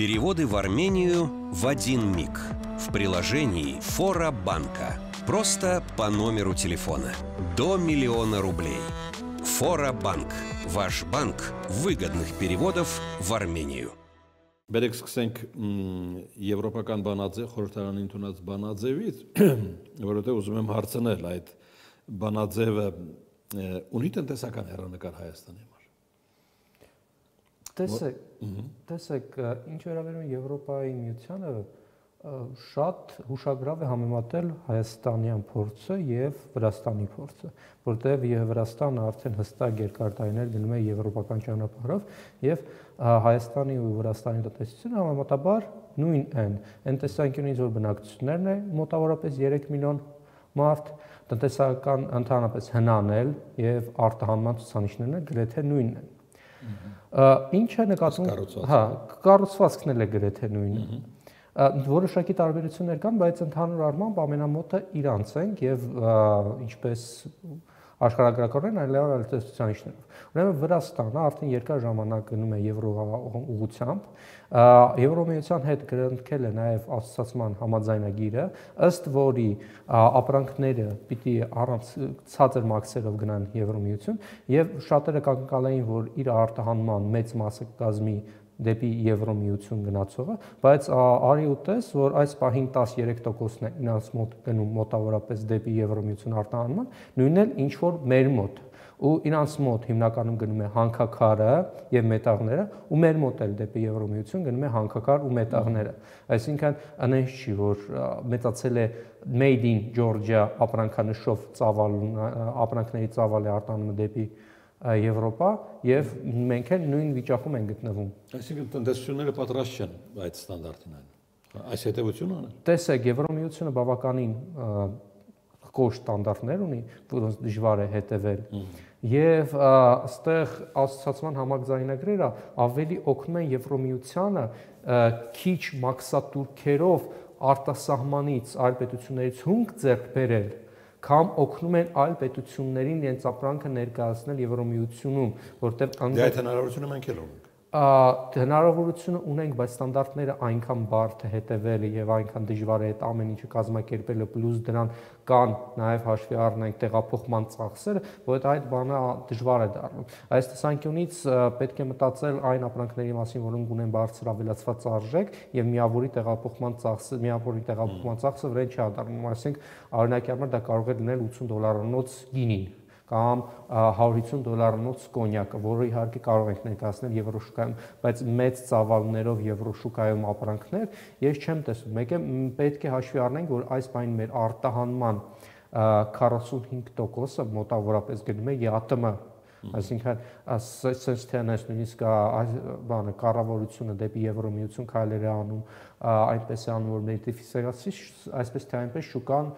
Переводы в Армению в один миг. В приложении Фора Банка. Просто по номеру телефона. До 1 000 000 рублей. Фора Банк. Ваш банк выгодных переводов в Армению. Բերեք սկսենք եվրոպական բանաձև, խորհրդարանի ընդունած բանաձևից, որովհետև ուզում եմ հարցնել այդ բանաձևը ունի տնտեսական հեռանկար Հայաստանի համար։ Տեսեք, ինչ վերաբերում է Եվրոպայի միությանը, շատ հուշագրավ է համեմատել հայաստանյան փորձը եւ Վրաստանի փորձը, որտեղ Վրաստանը արդեն հստակ երկար տարիներ գնում է եվրոպական ճանապարհով եւ Հայաստանի ու Վրաստանի տնտեսությունը համեմատաբար նույն են։ Այն տեսանկյունից, որ բնակչություններն է մոտավորապես 3 միլիոն մարդ, տնտեսական ընդհանրապես հնանել եւ արտահանման ցուցանիշներն գրեթե նույնն են։ Ինչ է նկատվում, կառուցվածքն էլ է գրեթե նույնը։ Որոշակի տարբերություններ կան, բայց ընդհանուր առմամբ ամենամոտը իրանց են եւ ինչպես աշխարհագրականորեն այլևս տեսություններով։ Ուրեմն Վրաստանը արդեն երկար ժամանակ գնում է եվրո ուղղությամբ, Եվրոմիության հետ գրնքել է նաև ասոցիացիան համաձայնագիրը, ըստ որի ապրանքները պիտի առանց ցածր մաքսերով գնան Եվրոմիություն եւ շատերը կանգնկալեին, որ իր արտահանման մեծ մասը կազմի դեպի Եվրոմիություն գնացողը, բայց արի ու տես, որ այս պահին 13%-ն է ինձ մոտ գնում մոտավորապես դեպի Եվրոմիություն արտահանման, նույնն էլ ինչ որ մեր մոտ ու իրանց մոտ հիմնականում գնում է հանքաքարը եւ մետաղները ու մեր մոտ էլ դեպի Եվրոմիություն գնում է հանքաքար ու մետաղները, այսինքն այնպես չի, որ մեծացել է made in Georgia ապրանքանշով ապրանքների ծավալ է արտանում դեպի Եվրոպա եւ մենք էլ նույն վիճակում ենք գտնվում։ Այսինքն տնտեսությունները պատրաստ չեն այդ ստանդարտին այն։ Այս հետևությունը ունեն։ Տեսեք, Եվրոմիությունը բավականին կոշտ ստանդարտներ ունի, որոնց դժվար է հետևել։ Եվ այստեղ ասոցիացիան համաձայնագրերը ավելի օգնում են Եվրոմիությանը քիչ մաքսատուրքերով արտասահմանից այլ պետություններից հումք ձեռք բերել, կամ օգնում են այլ պետություններին իրենց ապրանքը ներկայացնել Եվրոմիությունում, որտեղ Դե այդ հնարավորությունը մենք էլ ունենք։ Հնարավորությունը ունենք, բայց ստանդարտները այնքան բարդ է հետևելը եւ այնքան դժվար է այդ ամեն ինչը կազմակերպելը, պլյուս դրան կան նաեւ հաշվի առնենք տեղափոխման ծախսերը, որ այդ բանը դժվար է դառնում։ Այս տեսանկյունից պետք է մտածել այն ապրանքների մասին, որոնք ունեն բարձր ավելացված արժեք եւ միավորի տեղափոխման ծախսը վրան չի ադառնում, այսինքն օրինակի համար դա կարող է լինել $80 գինին կամ $150 կոնյակը, որը իհարկե կարող ենք ներկայացնել եվրոշուկայում, բայց մեծ ծավալներով եվրոշուկայում ապրանքներ ես չեմ տեսնում։ Մեկը պետք է հաշվի առնենք, որ այս բանի մեր արտահանման 45%-ը մոտավորապես գնում է ԵԱՏՄ, այսինքն sense tennis նույնիսկ բանը կառավարությունը դեպի Եվրոմիություն քայլեր է անում, այնպես է անում, որ ներդիֆիսկացի, այսպես թե այնպես շուկան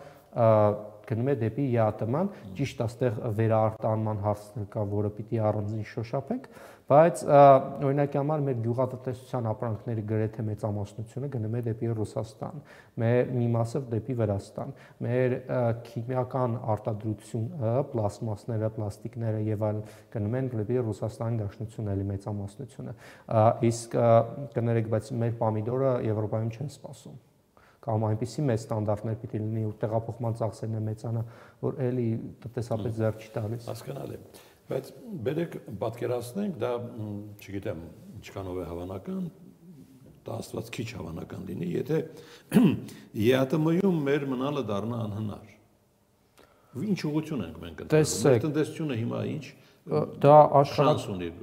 գնում է դեպի ԵԱՏՄ-ն, ճիշտ աստեղ վերարտահանման հարցն կա, որը պիտի առանձին շոշափենք, բայց օրինակի համար մեր գյուղատնտեսության ապրանքների գրեթե մեծամասնությունը գնում է դեպի Ռուսաստան, մեր մի մասը դեպի Վրաստան, մեր քիմիական արտադրությունը, պլաստմասները, պլաստիկները եւ այլ գնում են դեպի Ռուսաստանի Դաշնություն էլի մեծամասնությունը, իսկ կներեք, բայց մեր պոմիդորը Եվրոպայում չեն սպասում կամ այնպիսի մեծ ստանդարտներ պիտի լինի, որ տեղափոխման ծախսերն է մեծանա, որ էլի տնտեսապես ձեռք չի տալիս։ Հասկանալի։ Բայց բերեք պատկերացնենք, դա, չգիտեմ, ինչքանով է հավանական, դա աստված քիչ հավանական լինի, եթե ԵԱՏՄ-ում մեր մնալը դառնա անհնար։ Ինչ ուղղություն ենք մենք ընտրում։ Մեր տնտեսությունը հիմա ինչ դա շանս ունի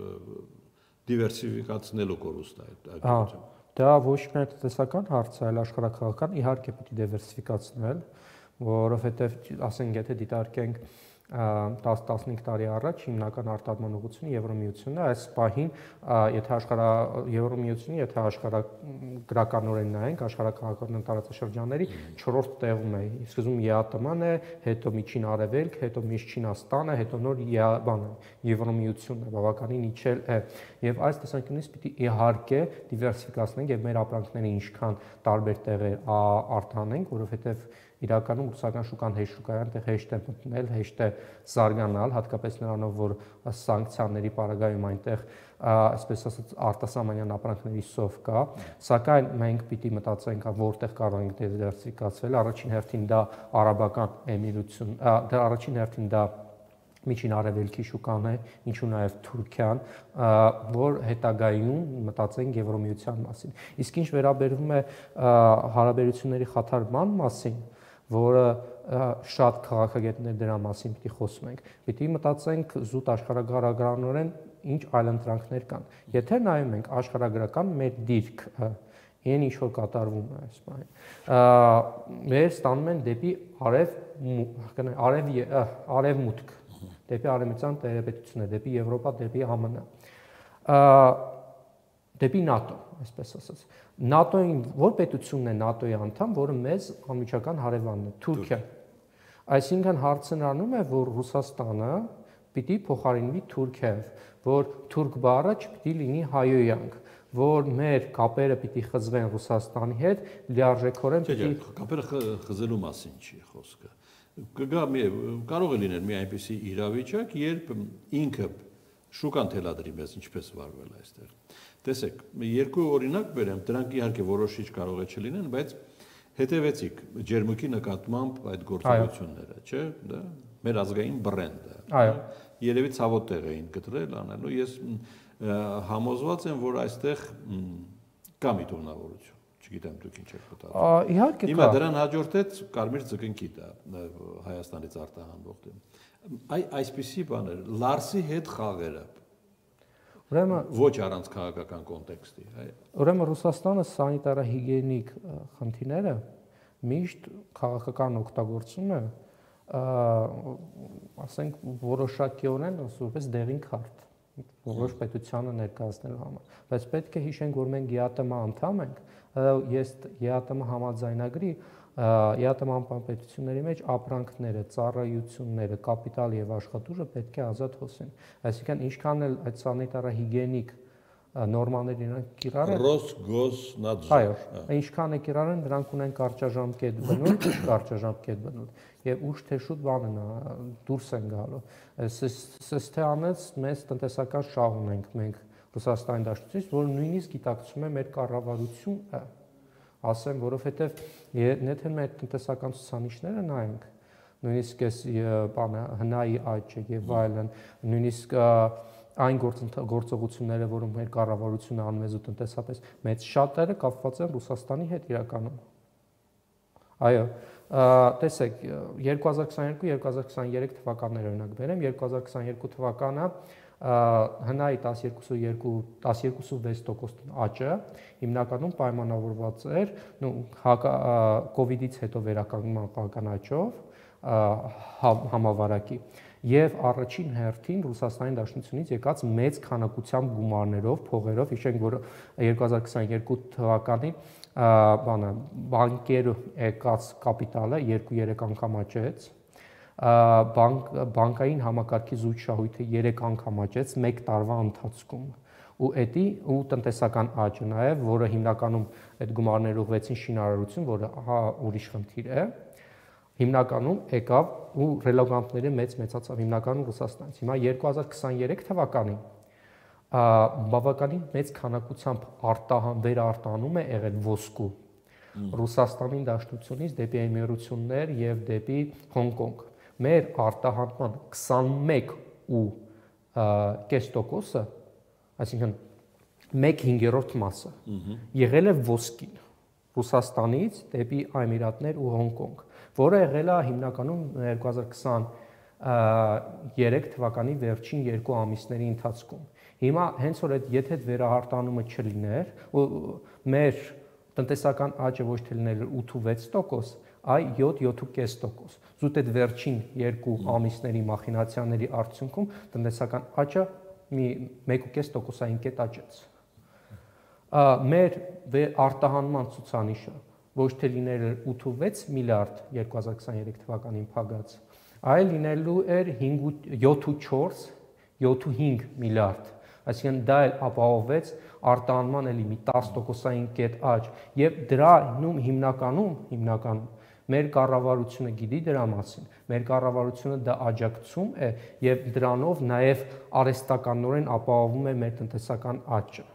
դիվերսիֆիկացնելու կորուստ այդ։ Դա ոչ միայն տնտեսական հարց է, այլ աշխարհաքաղաքական, իհարկե պիտի դիվերսիֆիկացնել, որովհետև ասենք եթե դիտարկենք 10-15 տարի առաջ հիմնական արտադրման ուղղությունը Եվրոմիությունն է, այս պահին եթե Եվրոմիությունը, եթե աշխարհագրականորեն նայենք, աշխարհաքաղաքական տարածաշրջանների 4-րդ տեղում է, սկզբում ԵԱՏՄ-ն է, հետո Միջին Արևելք, հետո Միշտ Չինաստանը, հետո նոր Եվրոմիությունն է, բավականին իջել է, եւ այս տեսանկյունից պիտի իհարկե դիվերսիֆիկացնենք եւ մեր ապրանքները ինչքան տարբեր տեղեր արտահանենք, որովհետեւ իրականում ռուսական շուկան հեշտ շուկա է, այնտեղ հեշտ է մտնել, հեշտ է զարգանալ, հատկապես նրանով, որ սանկցիաների պարագայում այնտեղ այսպես ասած արտասահմանյան ապրանքների սով կա, սակայն մենք պիտի մտածենք, որտեղ կարող ենք դիվերսիֆիկացվել, առաջին հերթին դա արաբական էմիրություն, դա առաջին հերթին դա Միջին Արևելքի շուկան է, ինչու նաև Թուրքիան, որ հետագայում մտածենք Եվրոմիության մասին։ Իսկ ինչ վերաբերվում է հարաբերությունների խաթարման մասին, որը շատ քաղաքագետներ դրա մասին պիտի խոսում ենք, պիտի մտածենք զուտ աշխարհագրականորեն ինչ այլընտրանքներ կան։ Եթե նայում ենք աշխարհագրական մեր դիրքը, այն ինչ որ կատարվում է այս բանը, մեր ստանում են դեպի արևմուտք, դեպի արևմտյան տերապետություններ, դեպի Եվրոպա, դեպի ԱՄՆ, դեպի ՆԱՏՕ, այսպես ասած։ ՆԱՏՕ-ին որ պետությունն է ՆԱՏՕ-ի անդամ, որը մեզ անմիջական հարևանն է, Թուրքիան։ Այսինքն հարցն առնում է, որ Ռուսաստանը պիտի փոխարինվի Թուրքիայով, որ թուրք բառը չպիտի լինի հայոյանք, որ մեր կապերը պիտի խզվեն Ռուսաստանի հետ, լիարժեքորեն պիտի կապերը խզելու մասին չի խոսքը։ Կգա կարող է լինել մի այնպիսի իրավիճակ, երբ ինքը շուկան թելադրի մեզ ինչպես վարվել այստեղ։ Տեսեք, երկու օրինակ բերեմ, դրանք իհարկե որոշիչ կարող է չլինեն, բայց հետևեցիք ջերմուկի նկատմամբ այդ գործողությունները, չէ՞, դա մեր ազգային բրենդը։ Այո։ Երևի ցավոտ տեղ էին գտրել անելու, ես համոզված եմ, որ այստեղ կա միտումնավորություն, չգիտեմ դուք ինչ եք մտածում։ Իհարկե կա։ Հիմա դրան հաջորդեց կարմիր ձկնկի դա Հայաստանից արտահանվող։ Այսպիսի բաներ, Լարսի հետ խաղերը։ Ուրեմն ոչ առանց քաղաքական կոնտեքստի։ Ուրեմն Ռուսաստանը սանիտարահիգիենիկ խնդիրները միշտ քաղաքական օգտագործում է, ասենք որոշակիորեն որպես դեղին քարտ որոշ պետությանը ներկայացնելու համար, բայց պետք է հիշենք, որ մենք ԵԱՏՄ անդամ ենք, ես ԵԱՏՄ համաձայնագրի ԵԱՏՄ անդամ պետությունների մեջ ապրանքները, ծառայությունները, կապիտալ եւ աշխատուժը պետք է ազատ հոսեն։ Այսինքն ինչքան էլ այդ սանիտարահիգիենիկ նորմաներ իրանք կիրառեն Ռոսգոսնադզոր։ Այո, ինչքան է կիրառեն, դրանք ունեն կարճաժամկետ բնույթ, կարճաժամկետ բնույթ եւ ուշ թե շուտ բանն է դուրս են գալու։ Սստեանից մեծ տնտեսական շահ ունենք մենք Ռուսաստանի Դաշնությունից, որ նույնիսկ գիտակցում է մեր կառավարությունը, ասեմ, որովհետեւ եթե մեր տնտեսական ցուցանիշները նայենք, նույնիսկ այս բանը հնայի աճը եւ այլն, նույնիսկ այն գործողությունները, որում մեր կառավարությունը անում է տնտեսապես, մեծ շատերը կապված են Ռուսաստանի հետ իրականում։ Այո, տեսեք, 2022-2023 թվականներ օրինակ բերեմ, 2022 թվականը հնայի 12.6% աճը հիմնականում պայմանավորված էր կոവിഡից հետո վերականգնման քաղաքական աճով համավարակի եւ առաջին հերթին Ռուսաստանի Դաշնությունից եկած մեծ քանակությամբ գումարներով, փողերով, հիշենք, որ 2022 թվականին բանկեր եկած կապիտալը 2-3 անգամ աճեց, բանկային համակարգի զույգ շահույթը 3 անգամ աճեց 1 տարվա ընթացքում ու տնտեսական աճը նաև, որը հիմնականում այդ գումարները ուղղվեցին շինարարություն, որը ուրիշ խնդիր է, հիմնականում եկավ ու ռելոկանտների մեծացավ հիմնականում Ռուսաստանից։ Հիմա 2023 թվականին բավականին մեծ քանակությամբ վերարտահանում է եղել ոսկու Ռուսաստանի Դաշնությունից դեպի Էմիրություններ եւ դեպի Հոնկոնգ։ Մեր արտահանման 21.5%-ը, այսինքն 1/5 մասը եղել է ոսկին Ռուսաստանից դեպի Էմիրատներ ու Հոնկոնգ, որը եղել է հիմնականում 2023 թվականի վերջին 2 ամիսների ընթացքում։ Հիմա հենց որ եթե այդ վերահարտանումը չլիներ, մեր տնտեսական աճը ոչ թե լինել 8.6%, այ 7.5%։ Զուտ այդ վերջին 2 ամիսների մախինացիաների արդյունքում տնտեսական աճը 1.5%-ային կետ աճեց։ Մեր արտահանման ցուցանիշը ոչ թե լինել էր 8.6 միլիարդ 2023 թվականին փակած, այլ լինելու էր 7.5 միլիարդ, այսինքն դա էլ ապահովեց արտահանման էլի մի 10%-ային կետ աճ, եւ դրա հիմնականում Մեր կառավարությունը գիտի դրա մասին։ Մեր կառավարությունը դա աջակցում է եւ դրանով նաեւ արհեստականորեն ապահովում է մեր տնտեսական աճը։